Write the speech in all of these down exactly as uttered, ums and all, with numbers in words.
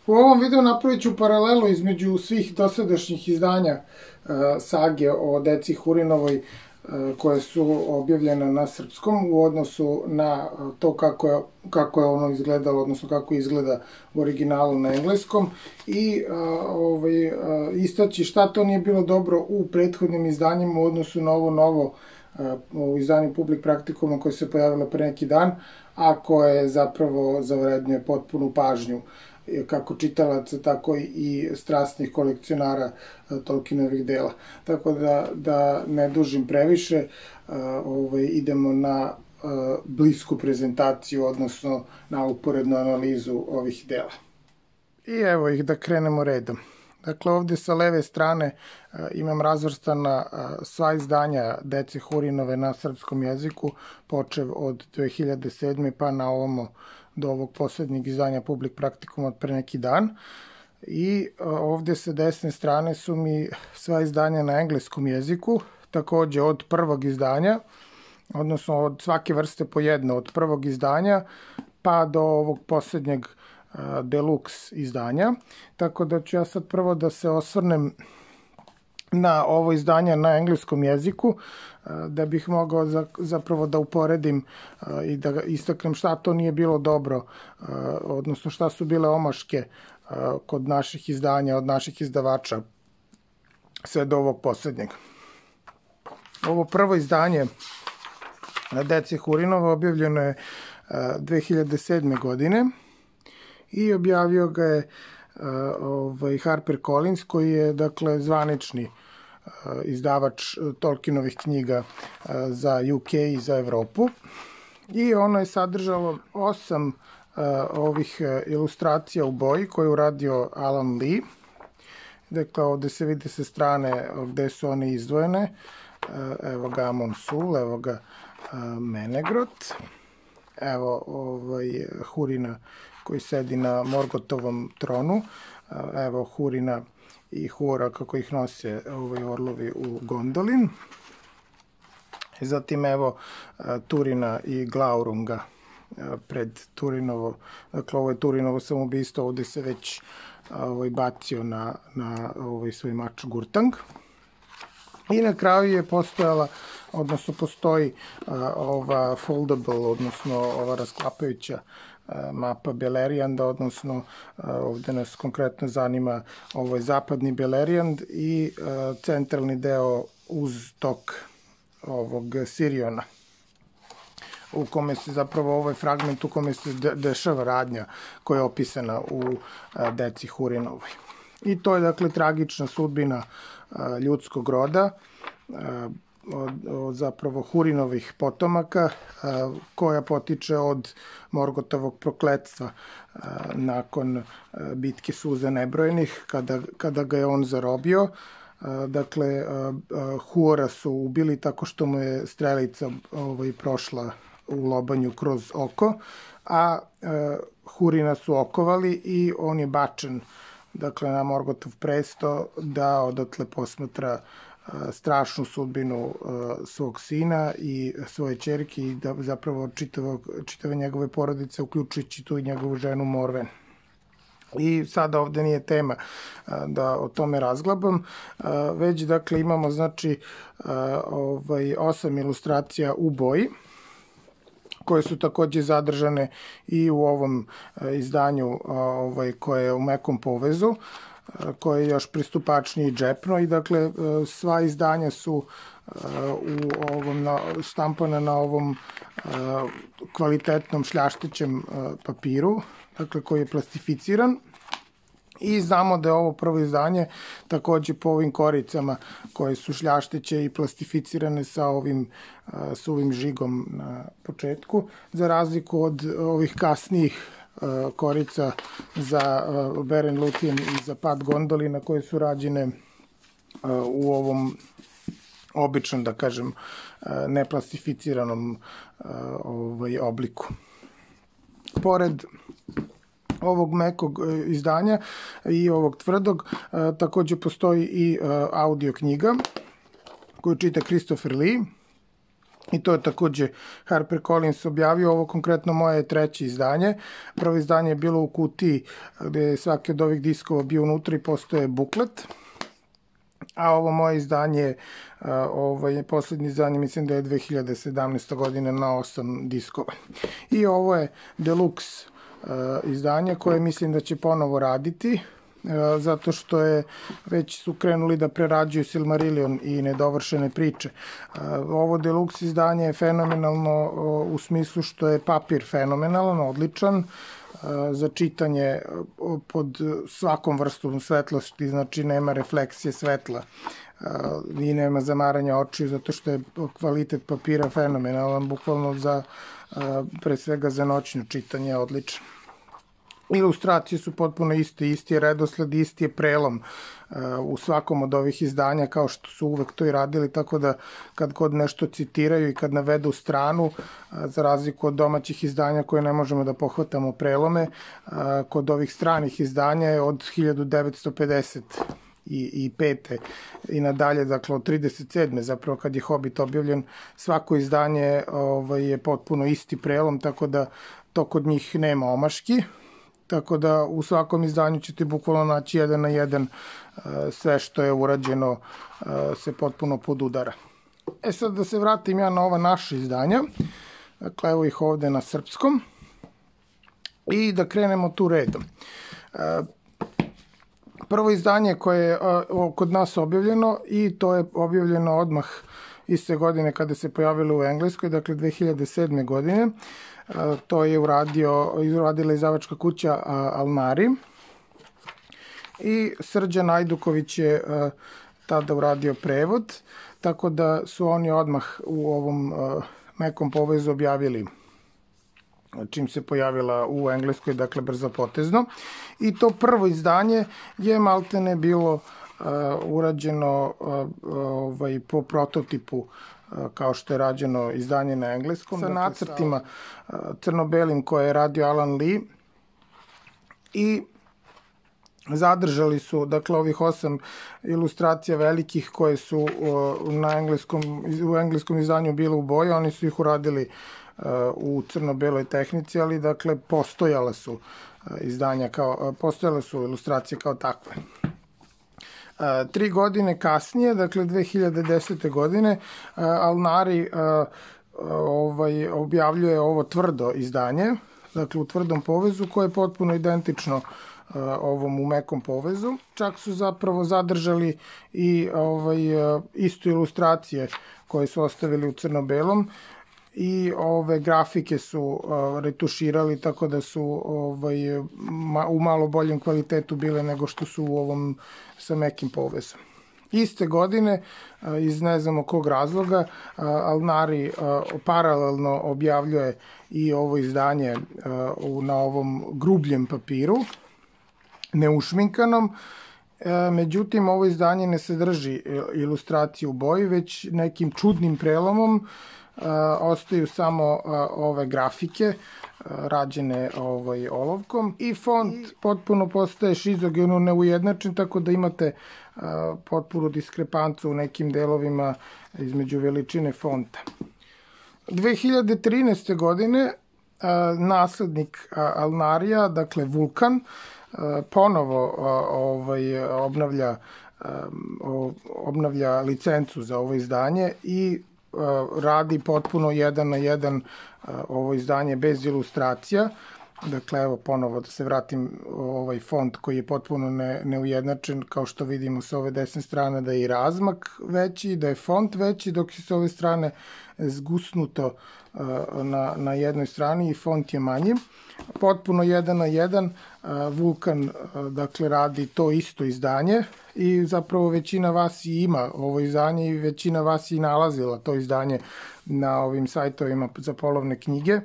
U ovom videu napravit ću paralelu između svih dosadašnjih izdanja sage o deci Hurinovoj koje su objavljene na srpskom u odnosu na to kako je, kako je ono izgledalo, odnosno kako izgleda u originalu na engleskom i ovaj, istaći šta to nije bilo dobro u prethodnim izdanjima u odnosu na ovo novo u izdanju Public Practicuma koje se pojavilo pre neki dan, a koje zapravo zavrednjuje potpunu pažnju kako čitalaca, tako i strasnih kolekcionara Tolkienovih dela. Tako da, da ne dužim previše, ovaj, idemo na blisku prezentaciju, odnosno na uporednu analizu ovih dela. I evo ih, da krenemo redom. Dakle, ovde sa leve strane imam razvrstana sva izdanja dece Hurinove na srpskom jeziku, počev od dve hiljade sedme pa na ovamo do ovog poslednjeg izdanja Public Practicuma od pre neki dan. I ovde sa desne strane su mi sva izdanja na engleskom jeziku, takođe od prvog izdanja, odnosno od svake vrste po jedno, od prvog izdanja pa do ovog poslednjeg deluxe izdanja. Tako da ću ja sad prvo da se osvrnem na ovo izdanje na engleskom jeziku, da bih mogao zapravo da uporedim i da istaknem šta to nije bilo dobro, odnosno šta su bile omaške kod naših izdanja, od naših izdavača, sve do ovog poslednjeg. Ovo prvo izdanje na deci Hurinova objavljeno je dve hiljade sedme. godine i objavio ga je ovaj, Harper Collins, koji je, dakle, zvanični izdavač Tolkienovih knjiga za U K i za Evropu. I ono je sadržalo osam ovih ilustracija u boji koje je uradio Alan Lee. Dakle, ovde se vide sa strane gde su one izdvojene. Evo ga Amon Sul, evo ga Menegrot, evo ovaj, Hurina koji sedi na Morgotovom tronu, evo Hurina i Huora kako ih nose ovaj, orlovi u Gondolin. Zatim evo Turina i Glaurunga pred Turinovo, dakle ovo je Turinovo samoubistvo, ovde se već ovaj, bacio na, na ovaj, svoj mač Gurtang. I na kraju je postojala, odnosno postoji ova foldable, odnosno ova rasklapajuća mapa Belerianda, odnosno ovde nas konkretno zanima ovaj zapadni Beleriand i centralni deo uz tok ovog Siriona, u kome se zapravo ovaj fragment u kome se dešava radnja koja je opisana u deci Hurinovoj. I to je, dakle, tragična sudbina ljudskog roda, od, od zapravo Hurinovih potomaka, koja potiče od Morgotovog prokletstva nakon bitke suza nebrojenih, kada, kada ga je on zarobio. Dakle, Huora su ubili tako što mu je strelica ovaj, prošla u lobanju kroz oko, a Hurina su okovali i on je bačen, dakle, na Morgotov presto da odatle posmatra strašnu sudbinu svog sina i svoje ćerke i da zapravo čitave njegove porodice, uključujući tu i njegovu ženu Morven. I sada ovde nije tema da o tome razglabam, već, dakle, imamo, znači, ovaj, osam ilustracija u boji, koje su takođe zadržane i u ovom izdanju ovaj, koje je u mekom povezu, koje je još pristupačnije i džepno i, dakle, sva izdanja su u ovom, štampana na ovom kvalitetnom šljaštećem papiru, dakle, koji je plastificiran. I znamo da je ovo prvo izdanje takođe po ovim koricama koje su šljašteće i plastificirane sa ovim suvim žigom na početku, za razliku od ovih kasnijih korica za Beren Luthien i za pad Gondolina koje su rađene u ovom običnom, da kažem, neplastificiranom ovaj, obliku. Pored ovog mekog izdanja i ovog tvrdog, takođe postoji i audio knjiga koju čita Christopher Lee. I to je takođe HarperCollins objavio. Ovo konkretno moje je treće izdanje. Prvo izdanje je bilo u kutiji gde je svaki od ovih diskova bio unutra i postoje buklet. A ovo moje izdanje, ovaj, poslednje izdanje, mislim da je dve hiljade sedamnaeste. godine na osam diskova. I ovo je deluxe izdanje koje mislim da će ponovo raditi, zato što je već su krenuli da prerađuju Silmarillion i nedovršene priče. Ovo deluxe izdanje je fenomenalno u smislu što je papir fenomenalan, odličan, za čitanje pod svakom vrstom svetlosti, znači nema refleksije svetla i nema zamaranja očiju, zato što je kvalitet papira fenomenalan, bukvalno za, pre svega za noćno čitanje, odličan. Ilustracije su potpuno iste, isti je redosled, isti je prelom u svakom od ovih izdanja, kao što su uvek to i radili, tako da kad kod nešto citiraju i kad navedu stranu, za razliku od domaćih izdanja koje ne možemo da pohvatamo prelome, kod ovih stranih izdanja je od hiljadu devetsto pedeset i pete i nadalje, dakle od trideset sedme zapravo kad je Hobbit objavljen, svako izdanje je potpuno isti prelom, tako da to kod njih nema omaški. Tako da u svakom izdanju ćete bukvalno naći jedan na jedan sve što je urađeno se potpuno podudara. E sad da se vratim ja na ova naša izdanja. Dakle, evo ih ovde na srpskom. I da krenemo tu redom. Prvo izdanje koje je kod nas objavljeno i to je objavljeno odmah iste godine kada se pojavilo u Engleskoj, dakle dve hiljade sedme. godine. To je uradio, uradila izdavačka kuća Alnari i Srđan Ajduković je tada uradio prevod, tako da su oni odmah u ovom mekom povezu objavili čim se pojavila u Engleskoj, dakle brzopotezno. I to prvo izdanje je maltene bilo urađeno po prototipu kao što je rađeno izdanje na engleskom, sa nacrtima crno-belim koje je radio Alan Lee i zadržali su, dakle, ovih osam ilustracija velikih koje su na engleskom, u engleskom izdanju bile u boji, oni su ih uradili u crno-beloj tehnici, ali, dakle, postojala su izdanja kao, postojale su ilustracije kao takve. Tri godine kasnije, dakle dve hiljade desete. godine, Alnari objavljuje ovo tvrdo izdanje, dakle u tvrdom povezu koje je potpuno identično ovom u mekom povezu. Čak su zapravo zadržali i istu ilustracije koje su ostavili u crno-belom i ove grafike su retuširali tako da su u malo boljem kvalitetu bile nego što su u ovom sa mekim povezom. Iste godine, iz ne znamo kog razloga, Alnari paralelno objavljuje i ovo izdanje na ovom grubljem papiru, neušminkanom. Međutim, ovo izdanje ne sadrži ilustraciju u boji, već nekim čudnim prelomom ostaju samo ove grafike rađene olovkom i font potpuno postaje šizogeno neujednačen, tako da imate potpunu diskrepancu u nekim delovima između veličine fonta. dve hiljade trinaeste. godine naslednik Alnarija, dakle Vulkan, ponovo obnavlja obnavlja licencu za ovo izdanje i radi potpuno jedan na jedan ovo izdanje bez ilustracija. Dakle, evo ponovo da se vratim, ovaj font koji je potpuno neujednačen, kao što vidimo sa ove desne strane da je i razmak veći, da je font veći, dok je sa ove strane zgusnuto na jednoj strani i font je manji. Potpuno jedan na jedan Vulkan, dakle, radi to isto izdanje i zapravo većina vas i ima ovo izdanje i većina vas i nalazila to izdanje na ovim sajtovima za polovne knjige,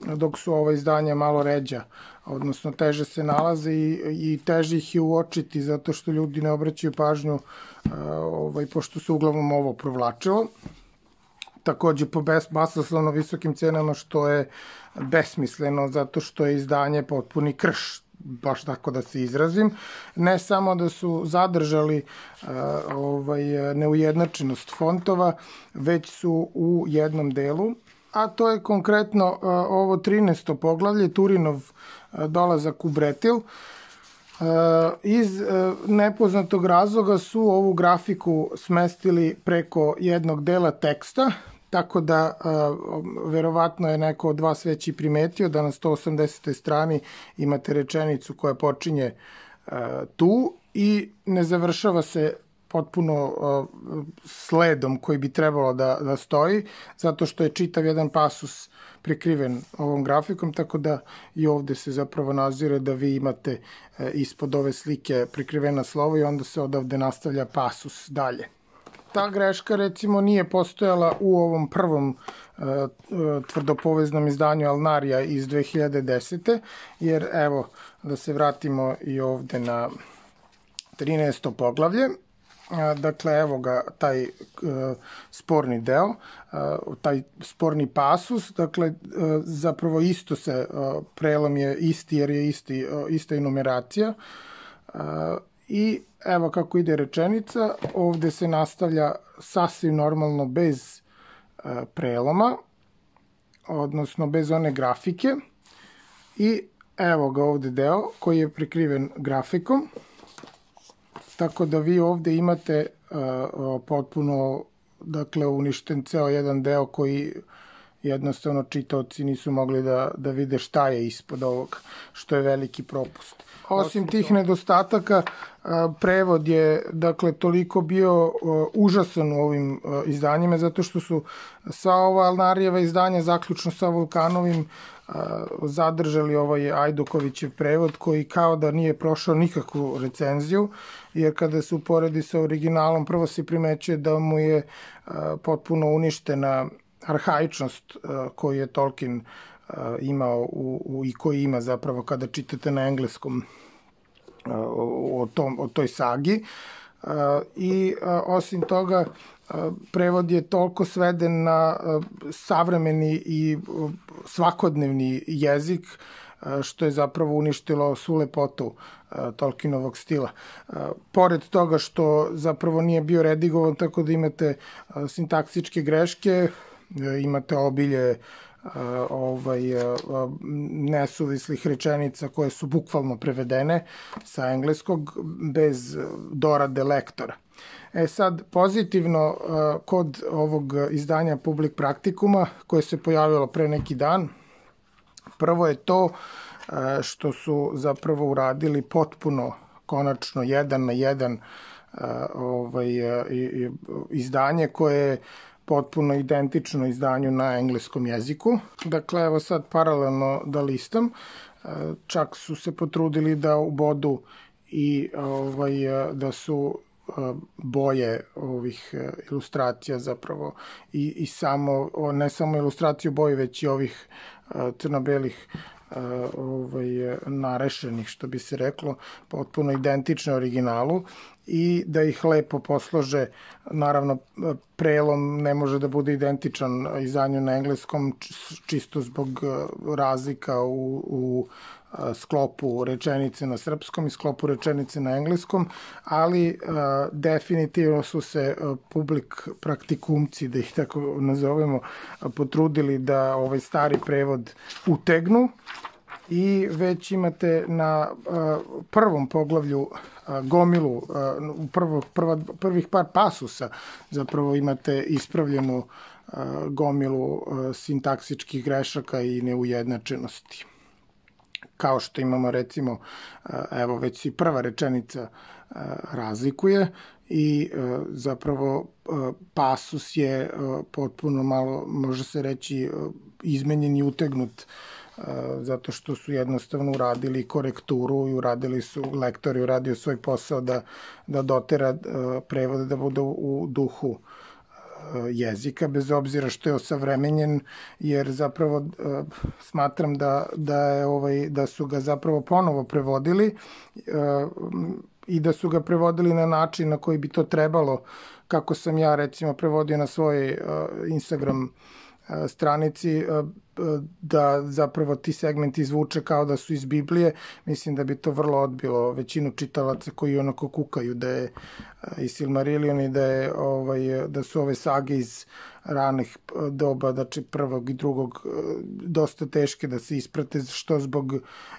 dok su ova izdanja malo ređa, odnosno teže se nalaze i teže ih je uočiti zato što ljudi ne obraćaju pažnju, pošto se uglavnom ovo provlačilo. Takođe po basnoslovno visokim cenama, što je besmisleno zato što je izdanje potpuni krš. baš tako da se izrazim. Ne samo da su zadržali ovaj, neujednačenost fontova, već su u jednom delu, a to je konkretno ovo trinaesto poglavlje, Turinov dolazak u Bretil. Iz nepoznatog razloga su ovu grafiku smestili preko jednog dela teksta, tako da verovatno je neko od vas već i primetio da na sto osamdesetoj strani imate rečenicu koja počinje tu i ne završava se potpuno sledom koji bi trebalo da, da stoji, zato što je čitav jedan pasus prekriven ovom grafikom, tako da i ovde se zapravo nazire da vi imate ispod ove slike prekrivena slova i onda se odavde nastavlja pasus dalje. Ta greška, recimo, nije postojala u ovom prvom tvrdopoveznom izdanju Alnarija iz dve hiljade desete. jer evo, da se vratimo i ovde na trinaesto poglavlje. Dakle, evo ga taj sporni deo, taj sporni pasus, dakle, zapravo isto se, prelom je isti jer je isti, ista i numeracija. I evo kako ide rečenica, ovde se nastavlja sasvim normalno bez preloma, odnosno bez one grafike. I evo ga ovde deo koji je prekriven grafikom. Tako da vi ovde imate uh, potpuno, dakle, uništen ceo jedan deo koji jednostavno čitaoci nisu mogli da, da vide šta je ispod ovog, što je veliki propust. Osim tih nedostataka, uh, prevod je, dakle, toliko bio uh, užasan u ovim uh, izdanjima, zato što su sva ova Alnarijeva izdanja, zaključno sa Vulkanovim, zadržali ovaj Ajdukovićev prevod koji kao da nije prošao nikakvu recenziju, jer kada se uporedi sa originalom prvo se primećuje da mu je potpuno uništena arhaičnost koju je Tolkien imao u, u, i koji ima zapravo kada čitate na engleskom o, tom, o toj sagi. I osim toga prevod je toliko sveden na savremeni i svakodnevni jezik, što je zapravo uništilo svu lepotu Tolkienovog stila. Pored toga što zapravo nije bio redigovan, tako da imate sintaksičke greške, imate obilje ovaj, nesuvislih rečenica koje su bukvalno prevedene sa engleskog bez dorade lektora. E sad, pozitivno kod ovog izdanja Public Practicuma, koje se pojavilo pre neki dan, prvo je to što su zapravo uradili potpuno, konačno, jedan na jedan ovaj, izdanje koje je potpuno identično izdanju na engleskom jeziku. Dakle, evo sad paralelno da listam, čak su se potrudili da ubodu i ovaj, da su boje ovih ilustracija zapravo i, i samo, ne samo ilustraciju boje, već i ovih crno-belih ovaj, narešenih, što bi se reklo, potpuno identične originalu i da ih lepo poslože. Naravno, prelom ne može da bude identičan izdanju na engleskom, čisto zbog razlika u, u sklopu rečenice na srpskom i sklopu rečenice na engleskom, ali a, definitivno su se a, public praktikumci, da ih tako nazovemo, a, potrudili da ovaj stari prevod utegnu i već imate na a, prvom poglavlju a, gomilu, a, u prvo, prva, prvih par pasusa zapravo imate ispravljenu a, gomilu a, sintaksičkih grešaka i neujednačenosti. Kao što imamo, recimo, evo već i prva rečenica razlikuje i zapravo pasus je potpuno malo, može se reći, izmenjen i utegnut, zato što su jednostavno uradili korekturu i uradili su, lektor je uradio svoj posao da, da dotera prevode da bude u duhu jezika, bez obzira što je osavremenjen, jer zapravo uh, smatram da, da, je, ovaj, da su ga zapravo ponovo prevodili uh, i da su ga prevodili na način na koji bi to trebalo, kako sam ja recimo prevodio na svoj uh, Instagram stranici da zapravo ti segmenti izvuče kao da su iz Biblije, mislim da bi to vrlo odbilo većinu čitalaca koji onako kukaju da je i Silmarillion i da, je, ovaj, da su ove sage iz ranih doba, znači prvog i drugog, dosta teške da se isprate, što zbog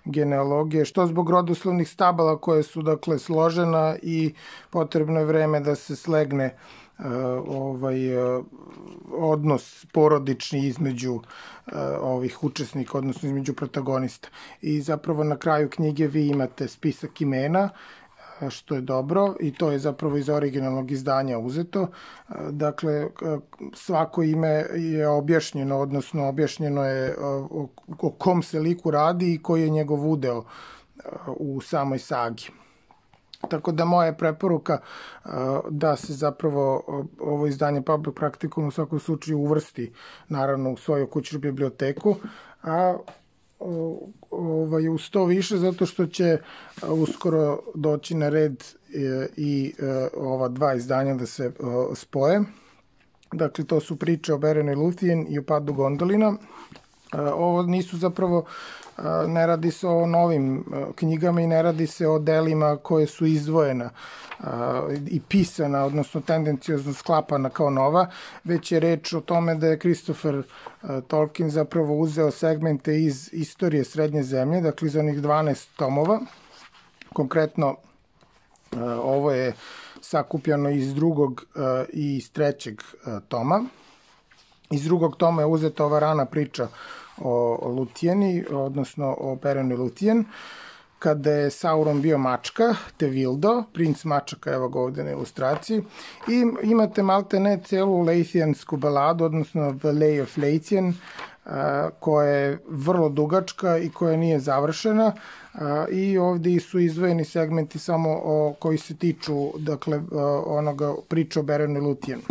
genealogije, što zbog rodoslovnih stabala koje su dakle složena i potrebno je vreme da se slegne Uh, ovaj uh, odnos porodični između uh, ovih učesnika, odnosno između protagonista. I zapravo na kraju knjige vi imate spisak imena, uh, što je dobro, i to je zapravo iz originalnog izdanja uzeto. Uh, dakle, uh, svako ime je objašnjeno, odnosno objašnjeno je uh, o, o kom se liku radi i koji je njegov udeo uh, u samoj sagi. Tako da moja je preporuka da se zapravo ovo izdanje Public Practicum u svakom slučaju uvrsti naravno u svoju kućnu biblioteku, a ovaj, uz to više zato što će uskoro doći na red i ova dva izdanja da se spoje. Dakle, to su priče o Beren i Luthien i o padu Gondolina. Ovo nisu zapravo, ne radi se o novim knjigama i ne radi se o delima koje su izdvojena i pisana, odnosno tendencijozno sklapana kao nova, već je reč o tome da je Christopher Tolkien zapravo uzeo segmente iz istorije Srednje zemlje, dakle iz onih dvanaest tomova. Konkretno, ovo je sakupljeno iz drugog i iz trećeg toma. Iz drugog toma je uzeta ova rana priča o Luthieni, odnosno o Berenu i Luthien, kada je Sauron bio mačka, Tevildo, princ mačaka, evo ga ovde na ilustraciji, i imate malte ne celu Leithiansku baladu, odnosno The Lay of Leithien, koja je vrlo dugačka i koja nije završena, i ovde su izdvojeni segmenti samo o, koji se tiču, dakle, onoga priča o Berenu i Luthienu.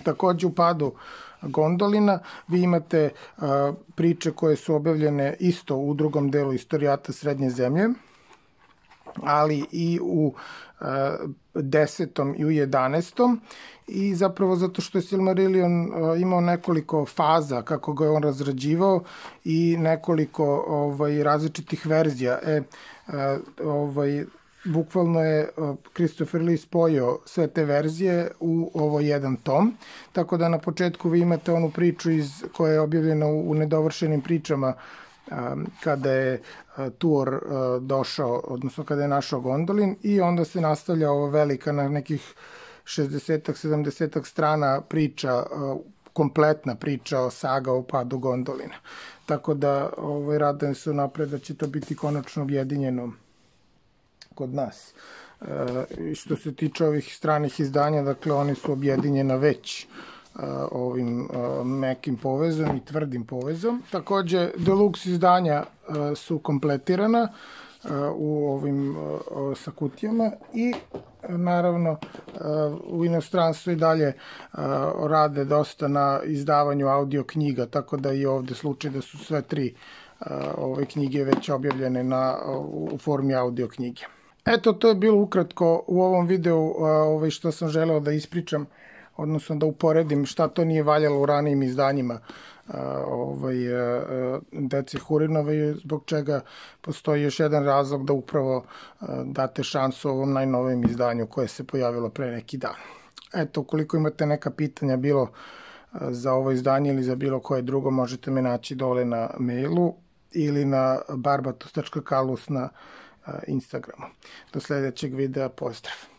Takođe u padu Gondolina vi imate a, priče koje su objavljene isto u drugom delu Istorijata Srednje zemlje, ali i u a, desetom i u jedanaestom, i zapravo zato što je Silmarillion a, imao nekoliko faza kako ga je on razrađivao i nekoliko ovaj, različitih verzija. E, a, ovaj, bukvalno je Christopher Lee spojio sve te verzije u ovo jedan tom, tako da na početku vi imate onu priču iz, koja je objavljena u, u nedovršenim pričama um, kada je uh, Tuor uh, došao, odnosno kada je našao Gondolin, i onda se nastavlja ovo velika na nekih šezdesetak sedamdesetak strana priča, uh, kompletna priča o saga o padu Gondolina. Tako da ovaj, radujem se napred da će to biti konačno objedinjeno kod nas. E, što se tiče ovih stranih izdanja, dakle, oni su objedinjena već e, ovim e, mekim povezom i tvrdim povezom. Takođe, deluxe izdanja e, su kompletirana e, u ovim e, sa kutijama i e, naravno e, u inostranstvu i dalje e, rade dosta na izdavanju audio knjiga, tako da i ovde slučaj da su sve tri e, ove knjige već objavljene na, u formi audio knjige. Eto, to je bilo ukratko u ovom videu ovaj, što sam želeo da ispričam, odnosno da uporedim šta to nije valjalo u ranijim izdanjima ovaj, Dece Hurinove, zbog čega postoji još jedan razlog da upravo date šansu ovom najnovijem izdanju koje se pojavilo pre neki dan. Eto, ukoliko imate neka pitanja bilo za ovo izdanje ili za bilo koje drugo, možete me naći dole na mailu ili na barbatos tačka kalus na Instagramu. Do sledećeg videa, pozdrav!